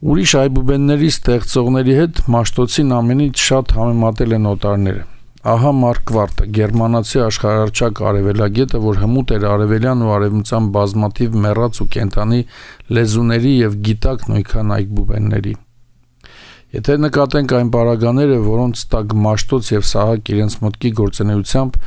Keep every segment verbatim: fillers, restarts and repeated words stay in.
Ուրիշ այբուբենների ստեղծողների հետ Մաշտոցին ամենից շատ համեմատել են օտարները։ Ահա Մարկվարտը, գերմանացի աշխարհարչակ արևելագետը, որ հմուտ էր արևելյան ու արևմտյան բազմաթիվ մեռած ու կենդանի լեզուների եւ գիտակ նույնքան այբուբենների։ Եթե նկատենք այն պարագաները, որոնց տակ Մաշտոց եւ Սահակ իրենց մտքի գործունեությամբ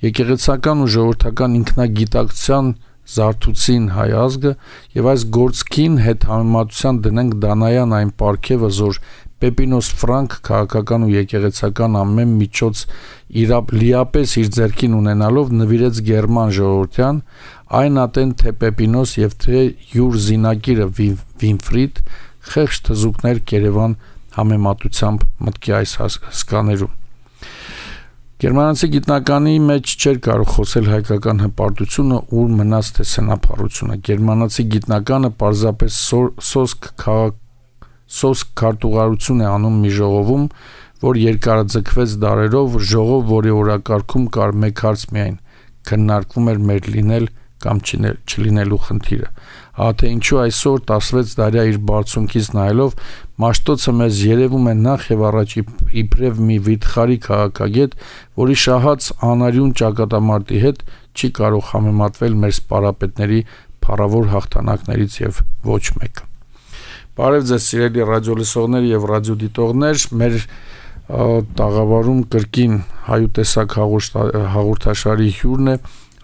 եկեղեցական ու ժողովրդական ինքնագիտակցության զարթուցին հայ ազգը եւ այս գործքին հետ համեմատության դնենք Դանայան այն պարգևը, որ Պեպինոս Ֆրանկ քաղաքական ու եկեղեցական ամեն միջոց իրապ լիապես իր ձեռքին ունենալով նվիրեց գերման ժողովրդյան, այն ատեն թե Պեպինոս եւ թե յուր զինակիրը Վինֆրիդ խեղճ թզուկներ Կերևան համեմատությամբ մտքի այս հսկաներում։ Գերմանացի գիտնականի մեջ չէր կարող խոսել հայկական հպարտությունը, ուր մնաց թե սենափառությունը։ Գերմանացի գիտնականը պարզապես սոսկ քաղաք Սոսկ քարտուղարություն է անում մի ժողովում, որ երկարաձգվեց դարերով, ժողով, որի օրակարգում կար մեկ հարց միայն՝ քննարկվում էր մեր լինել կամ չլինելու խնդիրը։ Հա թե ինչու այսօր տասնվեց դարյա իր բարձունքից նայելով Մաշտոցը մեզ երևում է նախ եւ առաջ իբրև մի վիթխարի քաղաքագետ, որի շահած անարյուն ճակատամարտի հետ չի կարող համեմատվել մեր սպարապետների փառավոր հաղթանակներից եւ ոչ մեկը։ Բարև ձեզ սիրելի ռադիոլսողներ եւ ռադիոդիտողներ, մեր տաղավարում կրկին հայուտեսակ հաղորդաշարի հյուրն է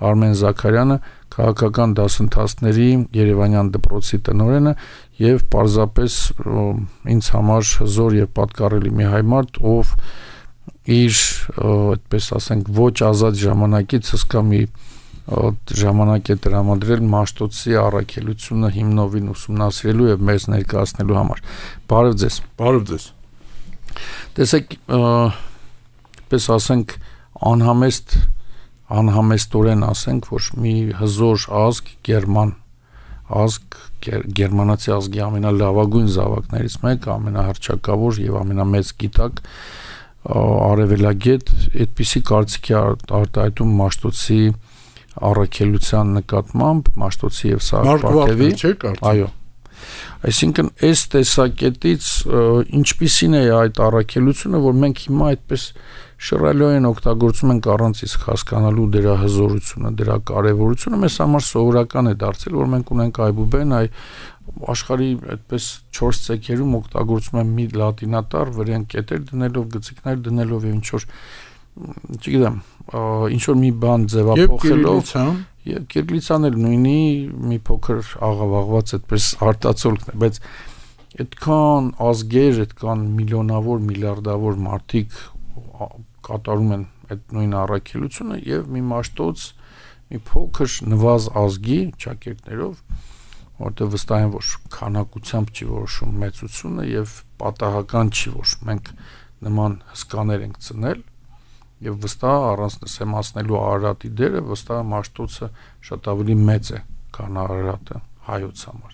Արմեն Զաքարյանը, քաղաքական դասընթացների Երևանյան դպրոցի տնօրենը եւ պարզապես ինձ համար հզոր եւ պատկառելի մի հայ մարդ, ով իր, այդպես ասենք, ոչ ազատ ժամանակից հսկա մի ժամանակ է տրամադրել Մաշտոցի առաքելությունը հիմնովին ուսումնասիրելու եւ մեզ ներկայացնելու համար։ Բարև ձեզ։ Բարև ձեզ։ Տեսեք, պես ասենք, անհամեստ անհամեստորեն ասենք, որ մի հզոր ազգ, գերման ազգ, գերմանացի ազգի ամենալավագույն զավակներից մեկը, ամենահռչակավոր եւ ամենամեծ գիտակ, արևելագետ, այդպիսի կարծիքի արտահայտում Մաշտոցի առաքելության նկատմամբ Մաշտոցի եւ Սահակ պարգևի, այո։ Այսինքն այս տեսակետից ինչպիսին է այդ առաքելությունը, որ մենք հիմա այդպես շռայլորեն օգտագործում ենք առանց իսկ հասկանալու դրա հզորությունը, դրա կարևորությունը, մեզ համար սովորական է դարձել, որ մենք ունենք այբուբեն, այ աշխարհի այդպես չորս ցեկերում օգտագործում են մի լատինատառ, վրան կետեր դնելով, գծիկներ դնելով եւ ինչ որ չգիտեմ, ինչ որ մի բան ձևափոխելով եւ կիրիլիցան էլ նույնի մի փոքր աղավաղված այդպես արտացոլքն է, բայց այդքան ազգեր, այդքան միլիոնավոր, միլիարդավոր մարդիկ կատարում են այդ նույն առաքելությունը եւ մի Մաշտոց, մի փոքր նվազ ազգի ճակերտներով, որտեղ վստահ եմ, որ քանակությամբ չի որոշում մեծությունը եւ պատահական չի, որ մենք նման հսկաներ ենք ծնել եւ վստահ առանց նսեմացնելու Արարատի դերը, վստահ Մաշտոցը շատ ավելի մեծ է, քան Արարատը հայոց համար։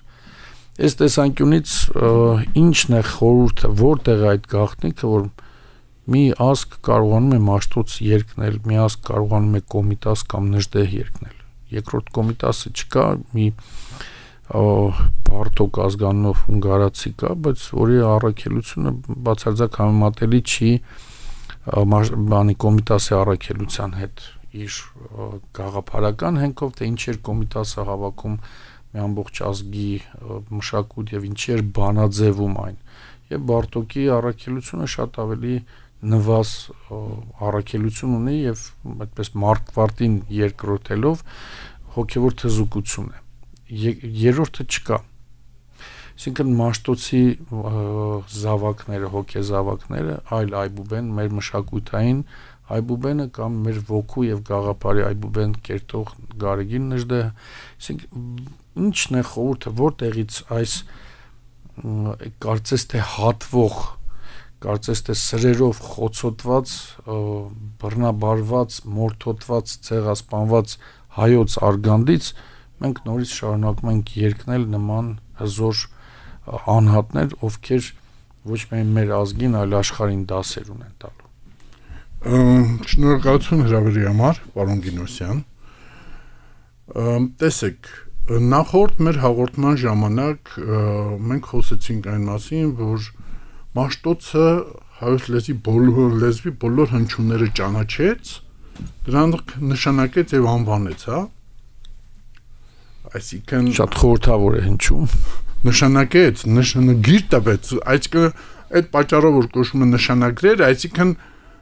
Այս տեսանկյունից ինչն է խորհուրդը, որտեղ է այդ գաղտնիքը, որ մի ազգ կարողանում է Մաշտոց երկնել, մի ազգ կարողանում է Կոմիտաս կամ Նժդեհ երկնել։ Երկրորդ Կոմիտասը չկա, մի բարդոկ ազգանունով հունգարացի կա, բայց որի առաքելությունը բացարձակ համեմատելի չի բանի Կոմիտասի առաքելության հետ իր գաղափարական հենքով, թե ինչ էր Կոմիտասը հավաքում մի ամբողջ ազգի մշակույթ եւ ինչ էր բանաձևում այն։ Եվ Բարդոկի առաքելությունը շատ ավելի նվազ առաքելություն ունի եւ այդպես Մարկվարտին երկրորդելով հոգեվոր թզուկություն է։ Երրորդը չկա։ Այսինքն Մաշտոցի զավակները, հոգեզավակները, այլ այբուբեն, մեր մշակութային այբուբենը կամ մեր ոգու եւ գաղափարի այբուբեն կերտող Գարեգին Նժդեհը, այսինքն ինչն է խորհուրդը, որտեղից այս կարծես թե հատվող, կարծես թե սրերով խոցոտված, բռնաբարված, մորթոտված, ցեղասպանված հայոց արգանդից մենք նորից շարունակում ենք երկնել նման հզոր անհատներ, ովքեր ոչ միայն մեր ազգին, այլ աշխարհին դասեր ունեն տալու։ Շնորհակալություն հրավերի համար, պարոն Գինոսյան։ Տեսեք, նախորդ մեր հաղորդման ժամանակ մենք խոսեցինք այն մասին, որ Մաշտոցը հայոց լեզվի բոլոր լեզվի բոլոր հնչյունները ճանաչեց, դրանք նշանակեց եւ անվանեց, հա։ Այսինքն շատ խորհրդավոր է հնչում։ Նշանակեց, նշանագիր տվեց, այսինքն այդ պատճառով որ կոչվում է նշանագրեր, այսինքն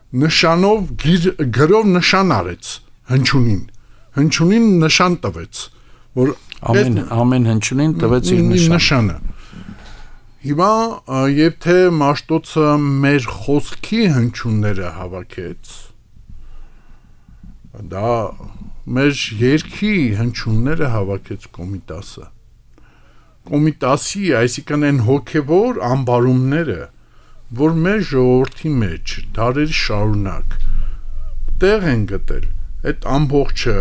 նշանով գրով նշան արեց հնչյունին։ Հնչյունին նշան տվեց, որ ամեն ամեն հնչյունին տվեց իր նշանը։ Հիմա եթե Մաշտոցը մեր խոսքի հնչյունները հավաքեց, դա մեր երկի հնչյունները հավաքեց Կոմիտասը։ Կոմիտասի, այսինքն այն հոգևոր ամբարումները, որ մեր ժողովրդի մեջ դարերի շարունակ տեղ են գտել, այդ ամբողջը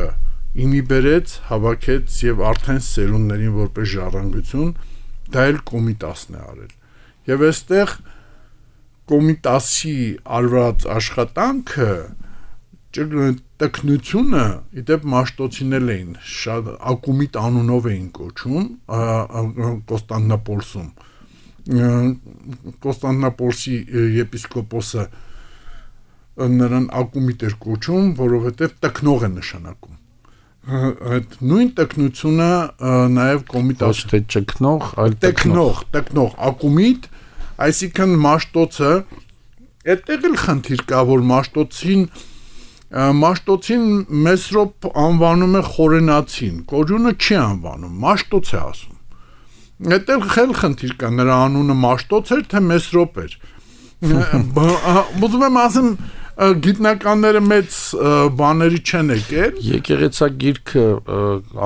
իմի բերեց, հավաքեց եւ արդեն սերունդներին որպես ժառանգություն դա էլ Կոմիտասն է արել։ Եվ այստեղ Կոմիտասի արված աշխատանքը տեխնությունը իդեպ Մաշտոցին էին շատ Ակումիտ անունով էին կոչում Կոստանդնապոլսում Կոստանդնապոլսի եպիսկոպոսը նրան Ակումիտ էր կոչում, որովհետև տեխնող է նշանակում։ Այդ նույն տեխնությունը նաև Կոմիտաս թե ճկնող, այլ տեխնող, տեխնող Ակումիտ, այսինքն Մաշտոցը այդտեղ էլ խնդիր կա, որ Մաշտոցին Մաշտոցին Մեսրոպ անվանում է խորենացին, կոջունը չի անվանում, Մաշտոց է ասում։ Այդտեղ խել խնդիր կա, նրա անունը Մաշտոց էր, թե Մեսրոպ էր։ Ուզում եմ ասեմ, գիտնականները մեծ բաների չեն եկել։ Եկեղեցագիրքը,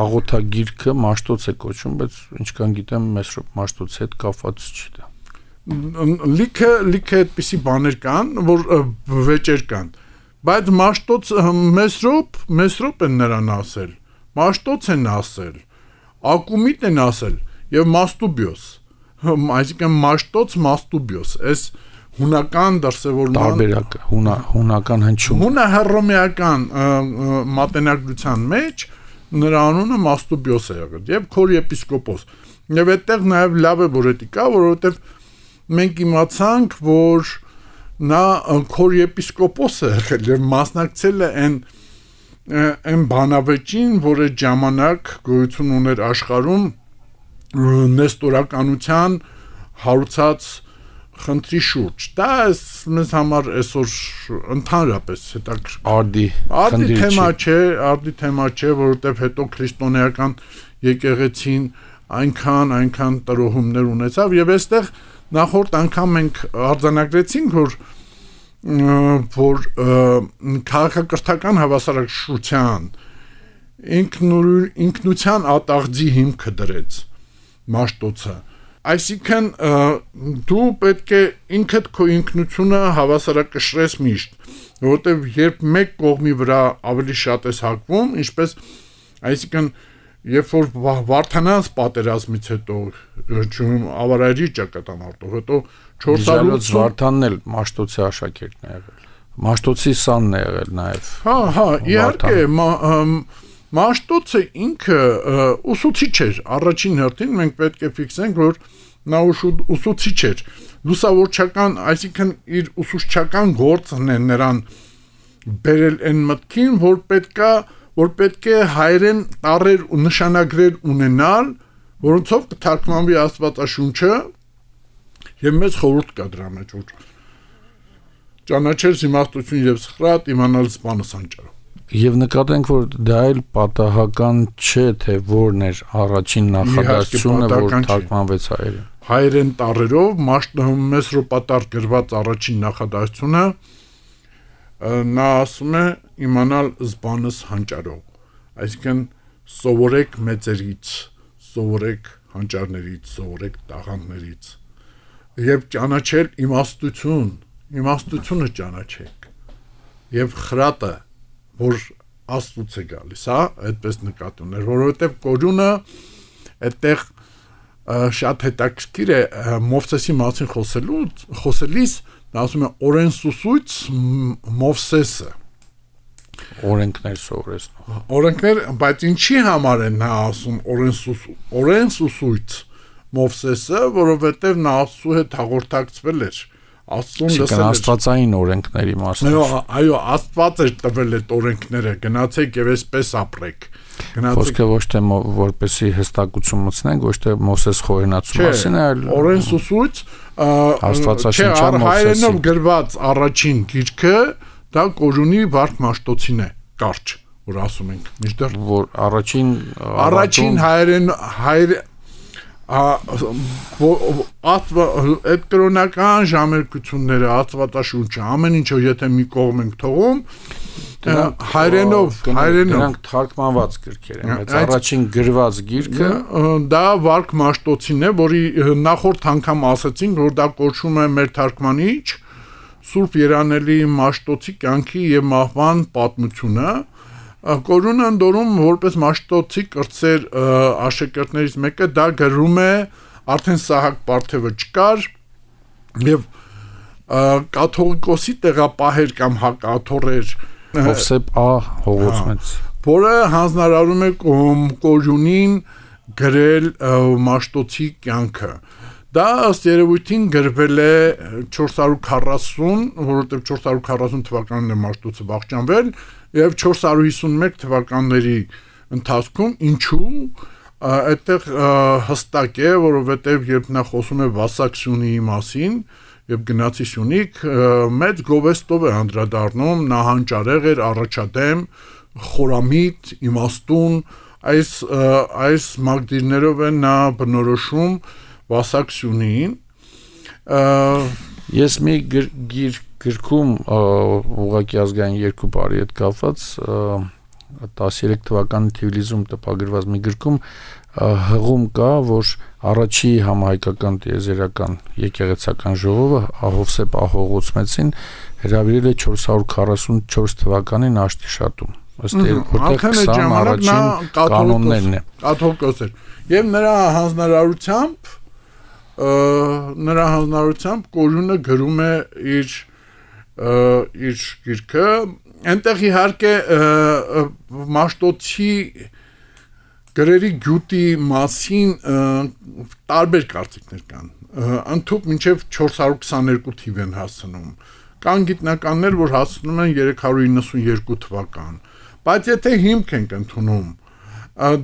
աղոթագիրքը Մաշտոց է կոչում, բայց ինչքան գիտեմ, Մեսրոպ Մաշտոցի հետ կապված չի դա։ Լիքը լիքը այդպիսի բաներ կան, որ վեճեր կան։ Բայց Մաշտոց Մեսրոպ, Մեսրոպ են նրան ասել, Մաշտոց են ասել, Ակումիտ են ասել եւ Մաստուբիոս, այսինքն Մաշտոց Մաստուբիոս, այս հունական դրսևորման տարբերակը, հունա հունական հնչում։ Հունահռոմեական մատենագրության մեջ նրա անունը Մաստուբիոս է եղել եւ քոր եպիսկոպոս։ Եվ այդտեղ նաեւ լավ է որ դա կա, որովհետեւ մենք իմացանք, որ նա քոր եպիսկոպոս է եղել եւ մասնակցել է այն այն բանավեճին, որ այդ ժամանակ գոյություն ուներ աշխարհում նեստորականության հարուցած խնդրի շուրջ։ Դա մեզ համար այսօր ընդհանրապես հետաքրքիր արդի արդի թեմա չէ, արդի թեմա չէ, որովհետեւ հետո քրիստոնեական եկեղեցին այնքան այնքան տրոհումներ ունեցավ եւ այստեղ նախորդ անգամ մենք արձանագրեցինք, որ որ քաղաքակրթական հավասարակշռության ինքնության ատաղձի հիմքը դրեց Մաշտոցը։ Այսինքն դու պետք է ինքդ քո ինքնությունը հավասարակշռես միշտ, որովհետև երբ մեկ կողմի վրա ավելի շատ ես հակվում, ինչպես այսինքն երբ որ Վարդանանց պատերազմից հետո չում ավարայրի ճակատամարտով հետո չորս հարյուր Վարդանն էլ Մաշտոցի աշակերտն է եղել։ Մաշտոցի սանն է եղել նաև։ Հա, հա, իհարկե Մաշտոցը ինքը ուսուցիչ էր, առաջին հերթին մենք պետք է ֆիքսենք, որ նա ուսուցիչ էր, լուսավորչական, այսինքն իր ուսուցչական գործն է նրան բերել այն մտքին, որ պետքա, որ պետք է հայերեն տառեր ու նշանագրեր ունենալ, որոնցով կթարգմանվի Աստվածաշունչը, եւ մեծ խորհուրդ կա դրա մեջ, որ ճանաչել իմաստություն եւ սխրատ, իմանալ սպանս անճարով։ Եվ նկատենք, որ դա էլ պատահական չէ, թե որն էր առաջին նախադասությունը, որ թարգմանվեց հայերեն։ Հայերեն տառերով Մեսրոպատար գրված առաջին նախադասությունը նա ասում է իմանալ զբանս հանճարով, այսինքն սովորեք մեծերից, սովորեք հանճարներից, սովորեք տաղանդներից եւ ճանաչել իմաստություն, իմաստությունը ճանաչեք եւ խրատը, որ Աստծուց է գալիս, հա, այդպես նկատի ուներ, որովհետեւ կորյունը այդտեղ շատ հետաքրքիր է Մովսեսի մասին խոսելուց, խոսելիս նա ասում է օրենսուսույց Մովսեսը, օրենքներ սովորեցնող։ Օրենքներ, բայց ինչի համար են նա ասում օրենսուսույց Մովսեսը, որովհետև նա Աստծու հետ հաղորդակցվել էր, Աստծուն լսել էր։ Աստվածային օրենքների մասին։ Այո, այո, Աստված էր տվել այդ օրենքները, գնացեք եւ այսպես ապրեք։ Խոսքը ոչ թե որպեսի հստակություն մտցնենք, ոչ թե Մովսես խորհրդացու մասին, այլ օրենսուսույց Աստվածաշնչյան հայերենով գրված առաջին գիրքը դա Կորյունի Վարք Մաշտոցին է, կարճ, որ ասում ենք, միշտեր որ առաջին առաջին հայերեն հայր այդ կրոնական ժամերկությունները, Աստվածաշունչը, ամեն ինչը եթե մի կողմ ենք թողում, հայերենով, հայերենով դրանք թարգմանված գրքեր են, բայց առաջին գրված գիրքը դա Վարք Մաշտոցին է, որի նախորդ անգամ ասացինք, որ դա կոչվում է մեր թարգմանիչ Սուրբ Երանելի Մաշտոցի կյանքի եւ մահվան պատմությունը։ Կորյունը ընդորում որպես Մաշտոցի կրտսեր աշակերտներից մեկը դա գրում է արդեն Սահակ Պարթևը չկար եւ կաթողիկոսի տեղապահեր կամ հակաթոռեր Հովսեփ Ա Հողոցմեց, որը հանձնարարում է Կորյունին գրել Մաշտոցի կյանքը։ Դա ըստ երևույթին գրվել է չորս հարյուր քառասուն, որովհետև չորս հարյուր քառասուն թվականին է Մաշտոցը վախճանվել եւ չորս հարյուր հիսունմեկ թվականների ընթացքում ինչու այդտեղ հստակ է, որովհետև երբ նա խոսում է Վասակ Սյունիի մասին եւ գնացի Սյունիք, մեծ գովեստով է անդրադառնում, նա հանճարեղ էր, առաջադեմ, խորամիտ, իմաստուն, այս այս մակդիրներով է նա բնորոշում Վասակ Սյունիին։ Ես մի գիր գրքում ուղղակի ազգային երկու բարի հետ կապված տասներեք թվականի Թիֆլիսում տպագրված մի գրքում հղում կա, որ առաջի համահայկական տիեզերական եկեղեցական ժողովը Հովսեփ Ա Հողոցմեցին հրավիրել է չորս հարյուր քառասունչորս թվականին Աշտիշատում, ըստ որտեղ քսան առաջին կանոններն է կաթողիկոս էր եւ նրա հանձնարարությամբ նրա հանձնարարությամբ Կորյունը գրում է իր իր գիրքը, այնտեղ իհարկե Մաշտոցի գրերի գյուտի մասին տարբեր կարծիքներ կան, ընդհանուր մինչև չորս հարյուր քսաներկու թիվ են հասնում, կան գիտնականներ, որ հասնում են երեք հարյուր իննսունյերկու թվական, բայց եթե հիմք ենք ընդունում,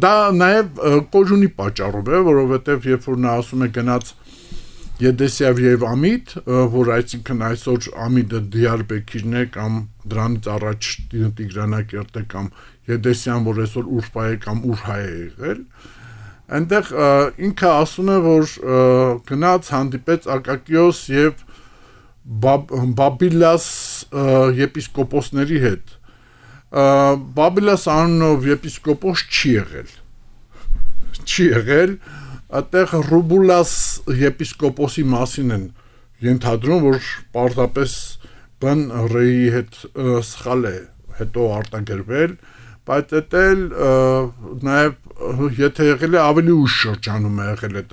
դա նաև Կորյունի պատճառով է, որովհետև երբ որ նա ասում է գնաց Եդեսիավ եւ Ամիդ, որ այսինքն այսօր Ամիդը Դիարբեկիրն է կամ դրանից առաջ Տիգրանակերտը կամ Եդեսյան, որ այսօր Ուրֆա է կամ Ուրհա է եղել, այնտեղ ինքը ասում է, որ գնաց հանդիպեց Ակակիոս եւ Բաբիլաս եպիսկոպոսների հետ։ Բաբիլաս անունով եպիսկոպոս չի եղել։ Չի եղել, այդտեղ Ռուբուլաս եպիսկոպոսի մասին են ենթադրում, որ պարզապես բն ռեի հետ սխալ է հետո արտագրվել, բայց էտել նաև եթե եղել է ավելի ուշ շրջանում է եղել այդ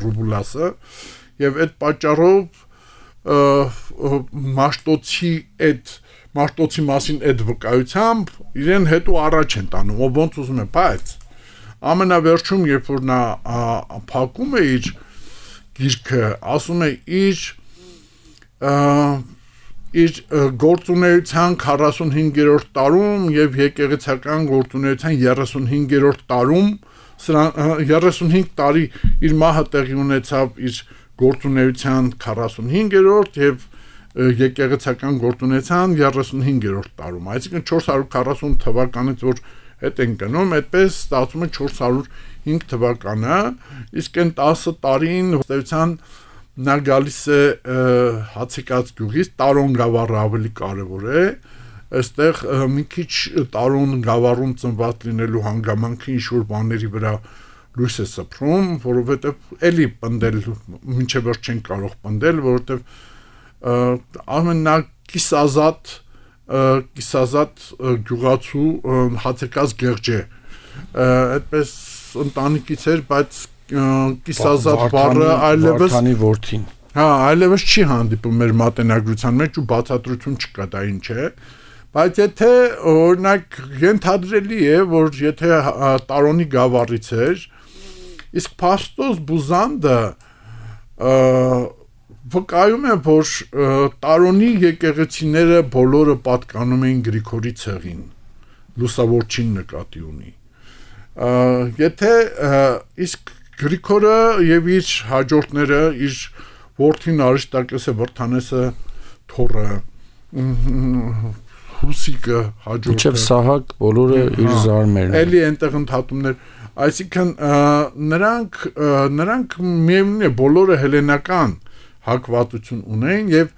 Ռուբուլասը եւ այդ պատճառով Մաշտոցի այդ Մաշտոցի մասին այդ վկայությամբ իրեն հետո առաջ են տանում, ով ոնց ուզում է, բայց ամենավերջում երբ որ նա փակում է իր գիրքը, ասում է իր իր գործունեության քառասունհինգերորդ տարում եւ եկեղեցական գործունեության երեսունհինգերորդ տարում, երեսունհինգ տարի իր մահը տեղի ունեցավ իր գործունեության քառասունհինգերորդ եւ եկեղեցական գործունեության երեսունհինգերորդ տարում, այսինքն չորս հարյուր քառասուն թվականից որ հետ են գնում, այդպես ստացվում է չորս հարյուր հինգ թվականը, իսկ այն տասը տարին ըստեյության նա գալիս է Հացիկած գյուղից, Տարոն գավառը ավելի կարևոր է, այստեղ մի քիչ Տարոն գավառում ծնված լինելու հանգամանքը ինչ-որ բաների վրա լույս է սփռում, որովհետև էլի պնդել, մինչև վերջ չեն կարող պնդել, որովհետև ամենա կիսազատ կիսազատ գյուղացու Հացիկած գեղջ է, այդպես ընտանիքից էր, բայց կիսազատ բառը այլևս Վարդանի որդին, հա, այլևս չի հանդիպում մեր մատենագրության մեջ ու բացատրություն չկա դա ինչ է, Բայց եթե օրինակ ենթադրելի է, որ եթե Տարոնի գավառից էր, իսկ Փաստոս Բուզանդը վկայում է, որ Տարոնի եկեղեցիները բոլորը պատկանում էին Գրիգորի ցեղին, լուսավորչին նկատի ունի։ Եթե իսկ Գրիգորը եւ իր հաջորդները, իր որդին Արիստակեսը, Վրթանեսը, Թորը, Հուսիկը, հաջորդը, Իչև Սահակ բոլորը իր զարմերն։ Էլի այնտեղ ընդհատումներ, այսինքն նրանք նրանք միևնույն է բոլորը հելենական հակվածություն ունեն եւ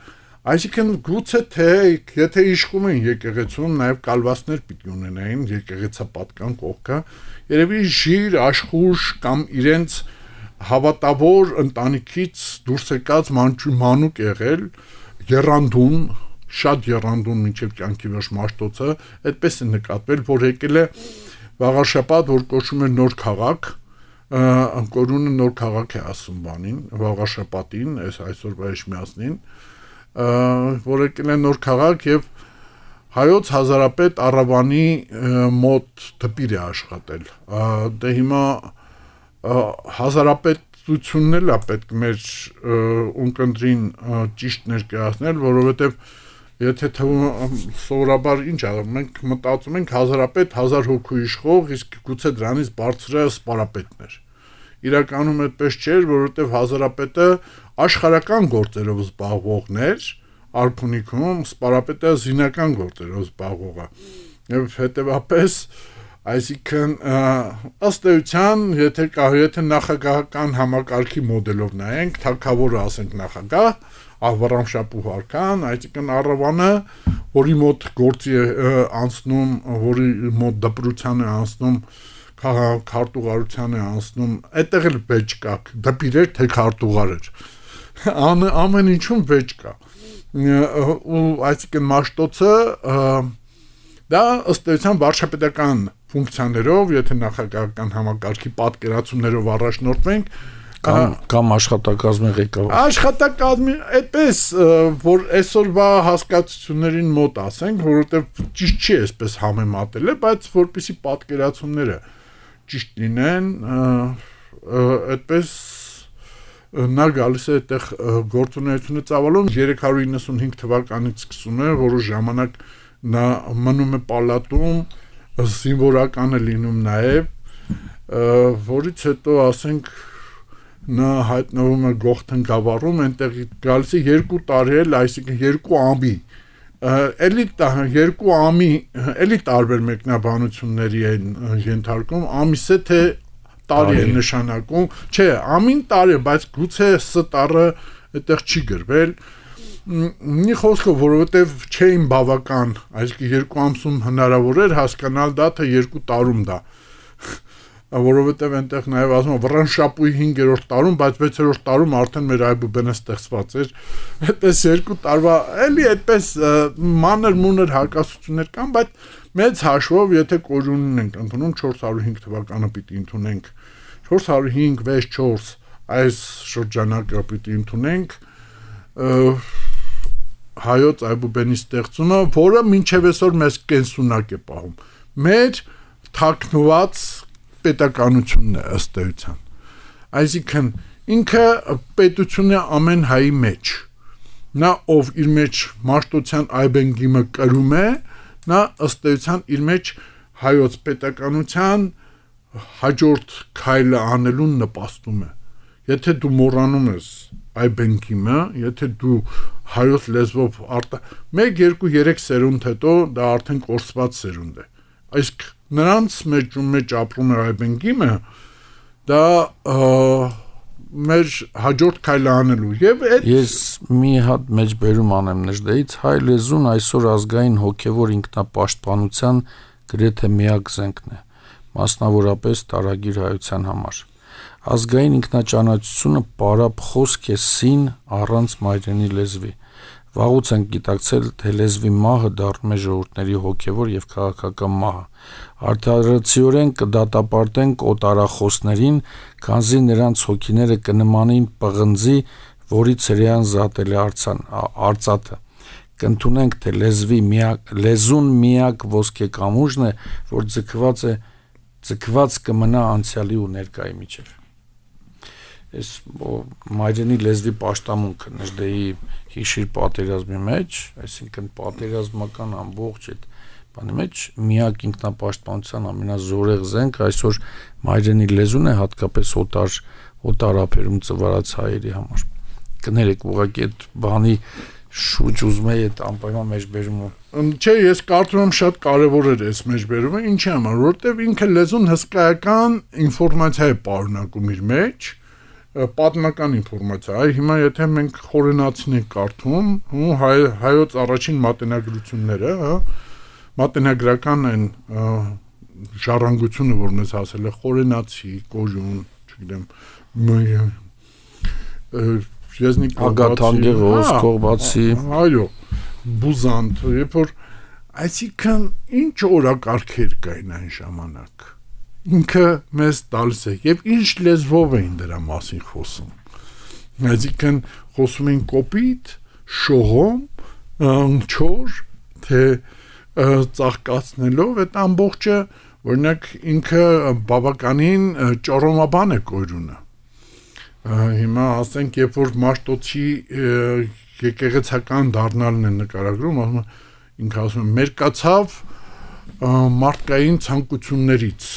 այսինքն գուցե թե եթե իշխում են եկեղեցում նաեւ կալվածներ պիտի ունենային եկեղեցապատկան կողքը երևի ժիր աշխուժ կամ իրենց հավատավոր ընտանիքից դուրս եկած մանուկ եղել երանդուն շատ երանդուն մինչև կյանքի վերջ Մաշտոցը այդպես է նկատվել որ եկել է Վաղաշապատ որ կոչվում է նոր քաղաք Անկորունը նոր քաղաք է ասում բանին Վաղաշապատին այս այսօրվա Էջմիածնին որ եկել է նոր քաղաք եւ հայոց հազարապետ Առավանի մոտ դպիր է աշխատել դե հիմա հազարապետությունն էլ է պետք մեր ունկնդրին ճիշտ ներկայացնել որովհետեւ եթե թվում սովորաբար ինչ ա մենք մտածում ենք հազարապետ հազար հոգու իշխող իսկ գուցե դրանից բարձրը սպարապետն էր իրականում այդպես չէր որովհետև հազարապետը աշխարհական գործերով զբաղվողն էր արքունիքում սպարապետը զինական գործերով զբաղվողը եւ հետեւապես այսինքն ըստ էության եթե կա եթե նախագահական համակարգի մոդելով նայենք թագավորը ասենք նախագահ Ահվարամշապու հարքան, այսինքն Առավանը, որի մոտ գործի է անցնում, որի մոտ դպրության է անցնում, քարտուղարության է անցնում, այդտեղ էլ վեճ կա, դպիր էր, թե քարտուղար էր։ Ամեն ինչում վեճ կա։ Ու այսինքն Մաշտոցը դա ըստ էության վարչապետական ֆունկցիաներով, եթե նախագահական համակարգի պատկերացումներով առաջնորդվենք, Կամ, կամ աշխատակազմի ղեկավար աշխատակազմի այդպես որ այսօրվա հասկացություններին մոտ ասենք որովհետև ճիշտ չի այսպես համեմատել է բայց որպեսի պատկերացումները ճիշտ լինեն այդպես նա գալիս է այդտեղ գործունեությունը ծավալում երեք հարյուր իննսունհինգ թվականից սկսում է որոշ ժամանակ նա մնում է պալատում զինվորական է լինում նաև որից հետո ասենք նա հայտնվում է Գողթեն գավառում, այնտեղ գալիս է երկու տարի էլ, այսինքն երկու ամի, էլի երկու ամի, էլի տարբեր մեկնաբանությունների են ենթարկում, ամիսը թե տարի է նշանակում, չէ, ամին տարի, բայց գուցե ս տարը այդտեղ չի գրվել, մի խոսքով, որովհետև չէին բավական, այսինքն երկու ամսում հնարավոր էր հասկանալ դա, թե երկու տարում դա որովհետև այնտեղ նաև ասում եմ Վռամշապուի հինգերորդ տարում, բայց վեցերորդ տարում արդեն մեր Այբուբենը ստեղծված էր։ Այդպես երկու տարվա էլի այդպես մանր մունր հակասություններ կան, բայց մեծ հաշվով եթե կորյունն ենք ընդունում չորս հարյուր հինգ թվականը պիտի ընդունենք չորս հարյուր հինգ վեց չորս այս շրջանակը պիտի ընդունենք հայոց Այբուբենի ստեղծումը, որը մինչև այսօր մեզ կենսունակ է պահում։ Մեր թաքնված պետականությունն է ըստ էության այսինքն ինքը պետությունն է ամեն հայի մեջ նա ով իր մեջ Մաշտոցյան այբենգիմը կրում է նա ըստ էության իր մեջ հայոց պետականության հաջորդ քայլը անելուն նպաստում է եթե դու մոռանում ես այբենգիմը եթե դու հայոց լեզվով արտա մեկ երկու երեք սերունդ հետո դա արդեն կորսված սերունդ է իսկ նրանց մեջ ու մեջ ապրում է այբենգիմը դա մեր հաջորդ քայլը անելու եւ այդ ես մի հատ մեջբերում անեմ նժդեից հայ լեզուն այսօր ազգային հոգեվոր ինքնապաշտպանության գրեթե միակ զենքն է մասնավորապես տարագիր հայության համար ազգային ինքնաճանաչությունը պարապ խոսք է սին առանց մայրենի լեզվի վաղուց ենք գիտակցել, թե լեզվի մահը դառնում է ժողովուրդների հոգևոր եւ քաղաքական մահը։ Արդարացիորեն կդատապարտենք օտարախոսներին, քանզի նրանց հոգիները կնմանեին պղնձի, որից հրեան զատել է արցան, արծաթը։ կընդունենք, թե լեզվի միակ լեզուն միակ ոսկե կամուրջն է, որ ձգված է ձգված կմնա անցյալի ու ներկայի միջև։ Այս մայրենի լեզվի պաշտամունքը Նժդեի հիշիր պատերազմի մեջ, այսինքն պատերազմական ամբողջ այդ բանի մեջ միակ ինքնապաշտպանության ամենազորեղ զենք այսօր մայրենի լեզուն է, հատկապես օտար օտարապերում ծվարած հայերի համար։ Կներեք, ուղղակի այդ բանի շուջ ուզում էի այդ անպայման մեջբերումը։ Չէ, ես կարծում եմ շատ կարևոր էր այս մեջբերումը, ինչի համար, որովհետև ինքը լեզուն հսկայական ինֆորմացիա է պարունակում իր մեջ, պատմական ինֆորմացիա։ Այ հիմա եթե մենք խորենացին ենք կարդում, ու հայ, հայոց առաջին մատենագրությունները, հա, մատենագրական են ժառանգությունը, որ մեզ հասել է խորենացի, կոժուն, չգիտեմ, Եզնիկ Ագաթանգեղոս, Կողբացի, այո, Բուզանտ, երբ որ այսինքն ինչ օրակարգեր կային այն ժամանակ։ Ինքը մեզ տալիս է եւ ինչ լեզվով էին դրա մասին խոսում։ Այսինքն խոսում էին կոպիտ, շողոմ, չոր, թե ծաղկացնելով այդ ամբողջը, օրինակ ինքը բավականին ճորոմաբան է կոյրունը։ Հիմա ասենք, երբ որ Մաշտոցի եկեղեցական դառնալն է նկարագրում, ասում ինքը ասում է մերկացավ մարդկային ցանկություններից։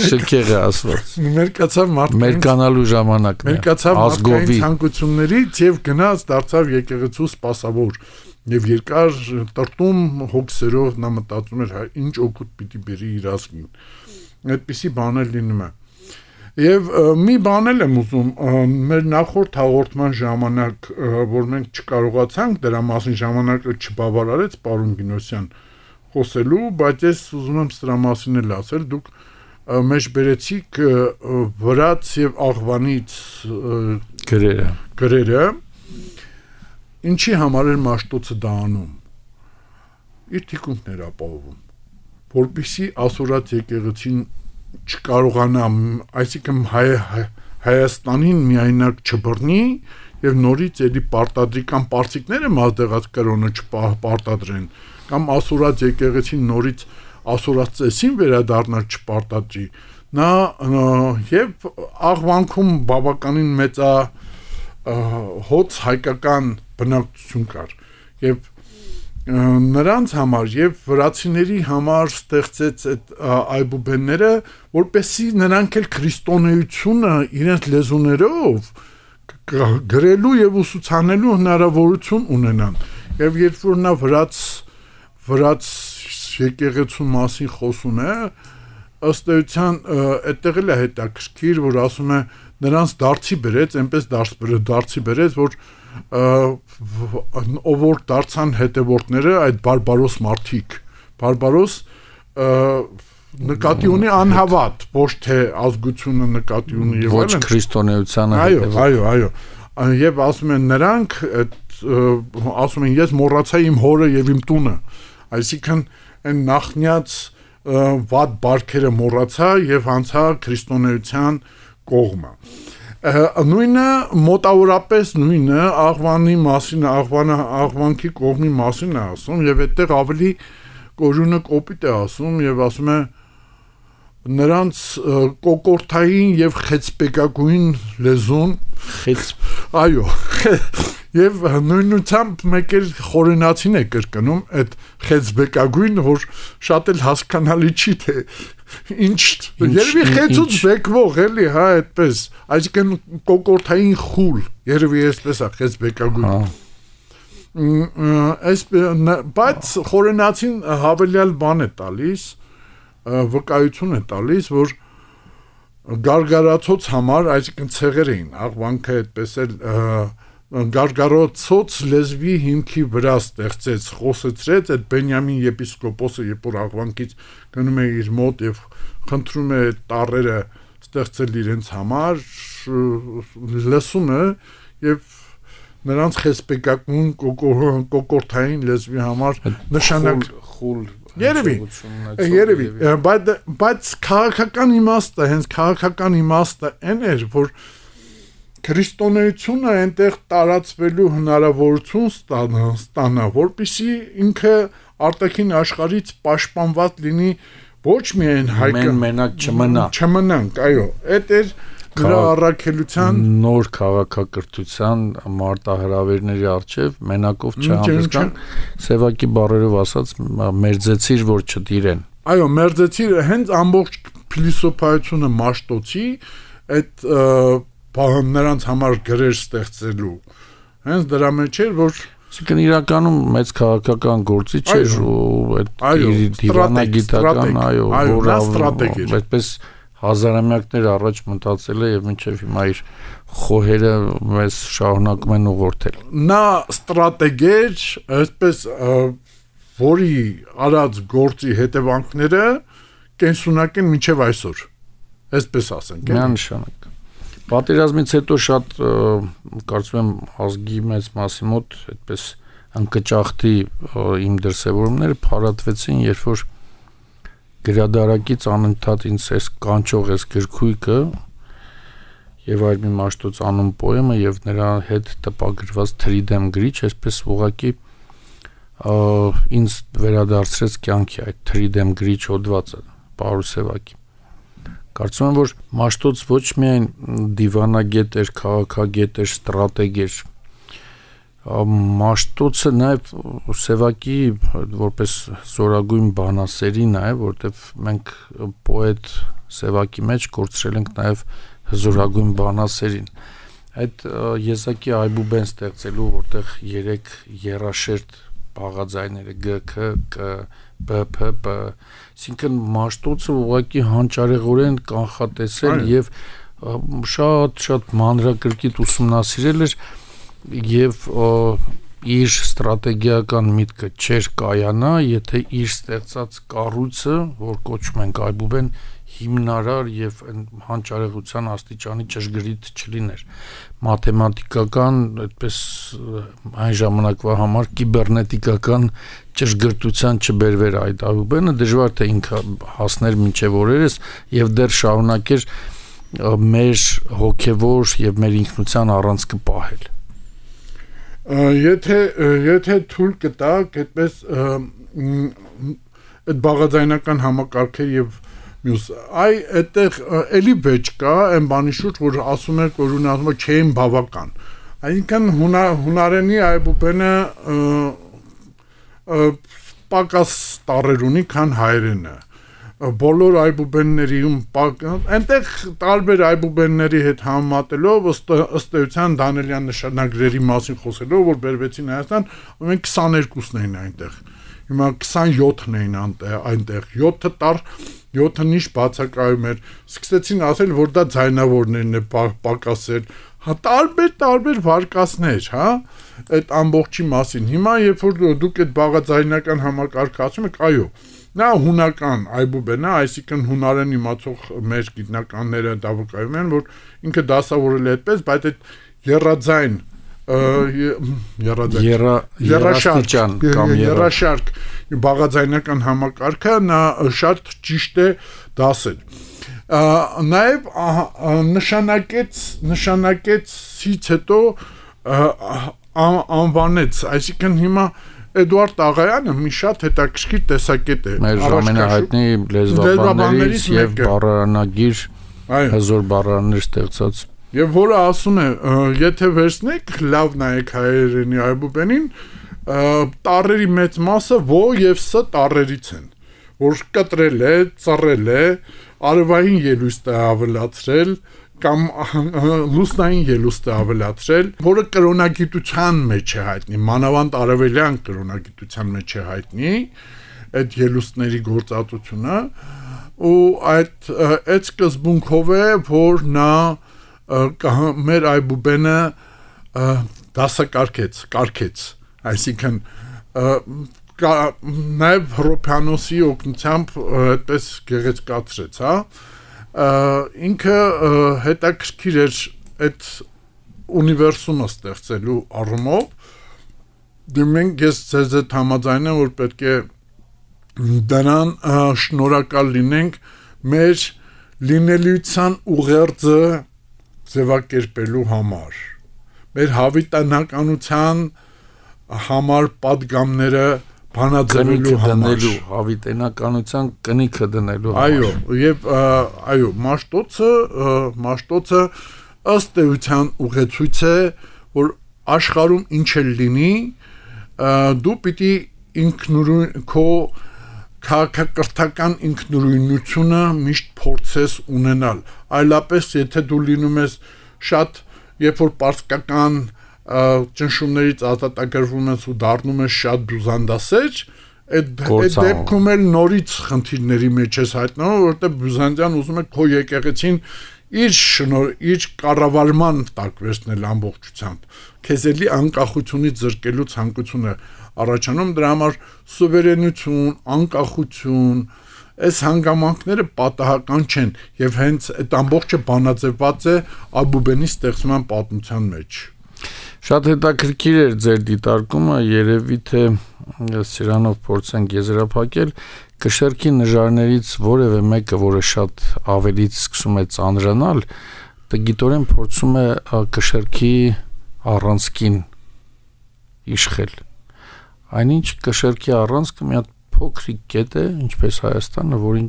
Շքեղը ասված։ Մերկացավ մարդկային մերկանալու ժամանակն է։ Մերկացավ մարդկային ցանկություններից եւ գնաց դարձավ եկեղեցու սպասավոր եւ երկար տրտում հոգսերով նա մտածում էր ինչ օգուտ պիտի բերի իր ազգին։ Այդպիսի բաներ լինում է։ Եվ մի բան էլ եմ ուզում, մեր նախորդ հաղորդման ժամանակ, որ մենք չկարողացանք դրա մասին ժամանակը չբավարարեց պարոն Գինոսյան խոսելու, բայց ես ուզում եմ սրա մասին էլ ասել, դուք մեջ բերեցիք վրաց եւ աղվանից գրերը, գրերը, ինչի համար էր Մաշտոցը դա անում։ Իր թիկունքն էր ապահովում, որպեսզի ասորած եկեղեցին չկարողանա, այսինքն հայ, հայ, Հայաստանին միայնակ չբռնի եւ նորից էլի պարտադրի կամ պարսիկները մազդեղած կրոնը չպարտադրեն կամ ասորած եկեղեցին նորից ասորած ծեսին վերադառնալ չպարտադրի։ Նա եւ աղվանքում բավականին մեծա հոց հայկական բնակչություն կար եւ նրանց համար եւ վրացիների համար ստեղծեց այդ այբուբենները, որպեսզի նրանք էլ քրիստոնեությունը իրենց լեզուներով գրելու եւ ուսուցանելու հնարավորություն ունենան։ Եվ երբ որ նա վրաց վրաց եկեղեցու մասին խոսում է, ըստ էության այդտեղ էլ է հետաքրքիր, որ ասում է նրանց դարձի բերեց, այնպես դարձի բերեց, որ ով որ դարձան հետևորդները այդ բարբարոս մարդիկ, բարբարոս նկատի ունի անհավատ, ոչ թե ազգությունը նկատի ունի եւ ոչ քրիստոնեությանը հետևող։ Այո, այո, այո։ Եվ ասում են նրանք, ասում են ես մոռացա իմ հորը եւ իմ տունը, այսինքն այն նախնյաց վատ բարքերը մոռացա եւ անցա քրիստոնեության կողմը։ Նույնը մոտավորապես նույնը աղվանի մասին, աղվանը աղվանքի կողմի մասին է ասում եւ այդտեղ ավելի կոժունը կոպիտ է ասում եւ ասում է նրանց կոկորթային եւ խեցպեկագույն լեզուն խեց այո եւ նույնությամբ մեկ էլ խորենացին է կրկնում այդ խեցբեկագույն, որ շատ էլ հասկանալի չի թե ինչ երևի խեցուց բեկվող էլի, հա, այդպես, այսինքն կոկորթային խուլ, երևի այսպես է խեցբեկագույն։ Այս բայց խորենացին հավելյալ բան է տալիս, վկայություն է տալիս, որ գարգարացոց համար, այսինքն ցեղեր էին, աղվանքը այդպես էլ գարգարացոց լեզվի հիմքի վրա ստեղծեց, խոսեցրեց այդ Բենյամին եպիսկոպոսը, երբ որ աղվանքից գնում է իր մոտ եւ խնդրում է տառերը ստեղծել իրենց համար, լսում է եւ նրանց խեսպեկակուն կոկորթային լեզվի համար նշանակ խուլ երևի երևի բայց բայց քաղաքական իմաստը հենց քաղաքական իմաստը այն էր որ քրիստոնեությունը այնտեղ տարածվելու հնարավորություն ստանա, ստանա, որպեսզի ինքը արտաքին աշխարհից պաշտպանված լինի ոչ միայն հայկը մենակ չմնա չմնանք, այո, այդ էր նրա առաքելության նոր քաղաքակրթության մարտահրավերների առջև մենակով չհանդիսան սևակի բառերով ասած մերձեցիր որ չտիրեն այո մերձեցիր հենց ամբողջ փիլիսոփայությունը Մաշտոցի այդ նրանց համար գրեր ստեղծելու հենց դրա մեջ էր որ Այսինքն իրականում մեծ քաղաքական գործի չէր ու այդ դիվանագիտական այո որ այդպես հազարամյակներ առաջ մտածել է եւ մինչեւ հիմա իր խոհերը մեզ շարունակում են ուղղորդել նա ստրատեգեր այսպես որի արած գործի հետևանքները կենսունակ են մինչեւ այսօր այսպես ասենք միանշանակ պատերազմից հետո շատ կարծում եմ ազգի մեծ մասի մոտ այդպես ընկճախտի իմ դրսևորումները փարատվեցին երբ որ գրադարակից անընդհատ ինձ էս կանչող էս գրքույկը եւ այլ մի Մաշտոց անուն պոեմը եւ նրա հետ տպագրված Թրիդեմ գրիչ այսպես ուղակի ինձ վերադարձրեց կյանքի այդ Թրիդեմ գրիչ հոդվածը Պարուս Սևակի կարծում եմ որ Մաշտոց ոչ միայն դիվանագետ էր, քաղաքագետ էր, ստրատեգ էր Մաշտոցը նաև Սևակի որպես զորագույն բանասերին է, որտեվ մենք պոետ Սևակի մեջ կորցրել ենք նաև զորագույն բանասերին։ Այդ եզակի այբուբեն ստեղծելու, որտեղ երեք երաշերտ բաղաձայները Գ, Ք, Կ, Բ, Փ, П, այսինքն Մաշտոցը ուղղակի հանճարեղորեն կանխատեսել եւ շատ-շատ մանրակրկիտ ուսումնասիրել էր եւ իր ստրատեգիական միտքը չէր կայանա, եթե իր ստեղծած կառույցը, որ կոչում ենք այբուբեն, հիմնարար եւ հանճարեղության աստիճանի ճշգրիտ չլիներ։ Մաթեմատիկական, այդպես այն ժամանակվա համար կիբեռնետիկական ճշգրտության չբերվեր այդ այբուբենը, դժվար թե ինքը հասներ մինչեւ օրերս եւ դեռ շարունակեր մեր հոգեվոր եւ մեր ինքնության առանցքը պահել։ Եթե եթե թույլ կտակ, այդպես այդ բաղաձայնական համակարգեր եւ մյուս այ այդտեղ էլի վեճ կա այն բանի շուրջ որ ասում են որ ունենալու չեն բավական այսինքն հունարենի այբուբենը պակաս տառեր ունի քան հայերենը բոլոր այբուբենների այնտեղ տարբեր այբուբենների հետ համեմատելով ըստ էության Դանիելյան նշանագրերի մասին խոսելով որ բերվեցին Հայաստան մենք քսաներկուսն էին այնտեղ հիմա քսանյոթն էին այնտեղ յոթը տար յոթը նիշ բացակայում էր սկսեցին ասել որ դա ձայնավորներն է պակասել հա տարբեր տարբեր վարկածներ հա այդ ամբողջի մասին հիմա երբ որ դուք այդ բաղաձայնական համակարգը ասում եք այո նա հունական այբուբենը, այսինքն հունարեն իմացող մեր գիտնականները դա վկայում են, որ ինքը դասավորել է այդպես, բայց այդ երաձայն երաշարք կամ երաշարք բաղաձայնական համակարգը նա շատ ճիշտ է դասել։ Նաև նշանակեց նշանակեցից հետո անվանեց, այսինքն հիմա Էդուարդ Աղայանը մի շատ հետաքրքիր տեսակետ է։ Մեր ամենահայտնի լեզվաբաններից եւ բառարանագիր հզոր բառարաններ ստեղծած։ Եվ որը ասում է, եթե վերցնեք, լավ նայեք հայերենի այբուբենին, տառերի մեծ մասը ո եւ ս տառերից են, որ կտրել է, ծռել է, արևային ելուստ է ավելացրել կամ լուսնային ելուստ է ավելացրել, որը կրոնագիտության մեջ է հայտնի, մանավանդ արևելյան կրոնագիտության մեջ է հայտնի, այդ ելուստների գործածությունը, ու այդ այդ սկզբունքով է, որ նա մեր այբուբենը դասակարգեց, կարգեց, այսինքն նաև Հռոփյանոսի օգնությամբ այդպես գեղեցկացրեց, հա ինքը հետաքրքիր էր այդ ունիվերսումը ստեղծելու առումով դեմենք ես ձեզ հետ համաձայն եմ որ պետք է դրան շնորհակալ լինենք մեր լինելիության ուղերձը ձևակերպելու համար, մեր հավիտենականության համար падգամները բանաձևելու համար, հավիտենականության կնիքը դնելու համար։ Այո, եւ այո, Մաշտոցը, Մաշտոցը ըստ էության ուղեցույց է, որ աշխարհում ինչ էլ լինի, դու պիտի ինքնուրույն քո քաղաքակրթական ինքնուրույնությունը միշտ փորձես ունենալ, այլապես եթե դու լինում ես շատ, երբ որ պարսկական ճնշումներից ազատագրվում ես ու դառնում ես շատ բյուզանդասեր, այդ դեպքում էլ նորից խնդիրների մեջ ես հայտնվում, որովհետև բյուզանդիան ուզում է քո եկեղեցին իր շնոր, իր կառավարման տակ վերցնել ամբողջությամբ, քեզ էլի անկախությունից զրկելու ցանկությունը առաջանում, դրա համար սուվերենություն, անկախություն, այս հանգամանքները պատահական չեն եւ հենց այդ ամբողջը բանաձևված է Աբուբենի ստեղծման պատմության մեջ։ Շատ հետաքրքիր էր ձեր դիտարկումը, երևի թե սրանով փորձենք եզրափակել, կշեռքի նժարներից որևէ մեկը, որը շատ ավելից սկսում է ծանրանալ, տգիտորեն փորձում է կշեռքի առանցքին իշխել։ Այնինչ կշեռքի առանցքը մի հատ փոքրիկ կետ է, ինչպես Հայաստանը, որին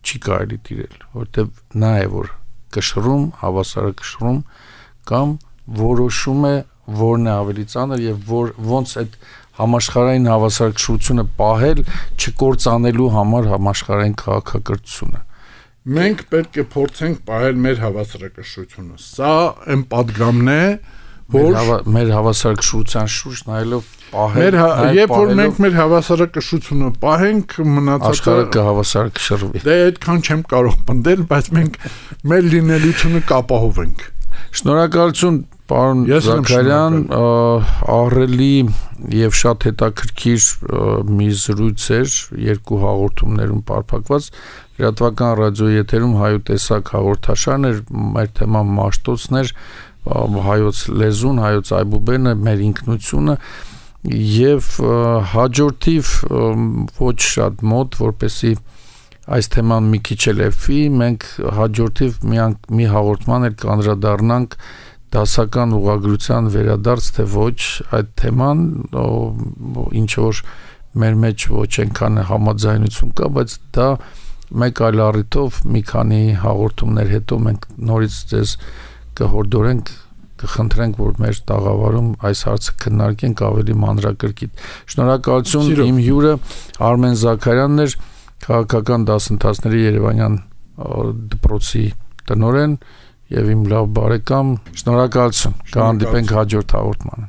չի կարելի տիրել, որտեղ նա է, որ կշռում, հավասարակշռում կամ որոշում է որն է ավելի ծանր եւ որ ոնց այդ համաշխարհային հավասարակշռությունը պահել, չկործանելու համար համաշխարհային քաղաքակրթությունը։ Մենք պետք է փորձենք պահել մեր հավասարակշռությունը։ Սա այն падգամն է, որ մեր հավասարակշռության շուրջ նայելով պահել, երբ որ մենք մեր հավասարակշռությունը պահենք, մնացածը աշխարհը կհավասարակշռվի։ Դե այդքան չեմ կարող պնդել, բայց մենք մեր լինելությունը կապահովենք։ Շնորհակալություն Պարոն Զաքարյան, ահռելի եւ շատ հետաքրքիր մի զրույց էր, երկու հաղորդումներում պարփակված, լրատվական ռադիոյի եթերում Հայոց տեսակ հաղորդաշարն էր, մեր թեման Մաշտոցն էր, հայոց լեզուն, հայոց այբուբենը, մեր ինքնությունը եւ հաջորդիվ ոչ շատ մոտ, որպեսի այս թեման մի քիչ էլ էփի, մենք հաջորդիվ մի մի հաղորդման էլ կանդրադառնանք դասական ուղղագրության վերադարձ թե ոչ այդ թեման, ինչ որ մեր մեջ ոչ այնքան համաձայնություն կա, բայց դա մեկ այլ առիթով մի քանի հաղորդումներ հետո մենք նորից ձեզ կհորդորենք, կխնդրենք, որ մեր տաղավարում այս հարցը քննարկենք ավելի մանրակրկիտ։ Շնորհակալություն, իմ հյուրը Արմեն Զաքարյանն էր, քաղաքական դասընթացների Երևանյան դպրոցի տնօրեն եւ իմ լավ բարեկամ, շնորհակալություն, կհանդիպենք հաջորդ հաղորդմանը։